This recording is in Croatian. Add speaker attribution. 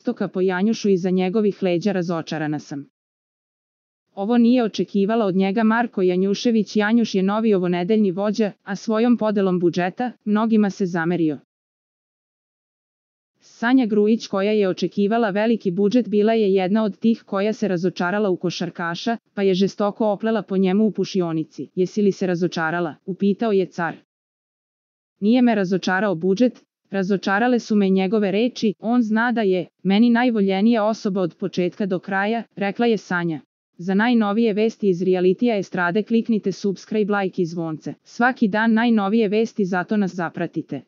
Speaker 1: Vostoka po Janjušu iza njegovih leđa razočarana sam. Ovo nije očekivala od njega Marko Janjušević. Janjuš je novi ovonedeljni vođa, a svojom podelom budžeta mnogima se zamerio. Sanja Grujić, koja je očekivala veliki budžet, bila je jedna od tih koja se razočarala u košarkaša, pa je žestoko oplela po njemu u pušionici. Jesi li se razočarala? Upitao je car. Nije me razočarao budžet, razočarale su me njegove reči. On zna da je meni najvoljenija osoba od početka do kraja, rekla je Sanja. Za najnovije vesti iz realitija estrade kliknite subscribe, like i zvonce. Svaki dan najnovije vesti, zato nas zapratite.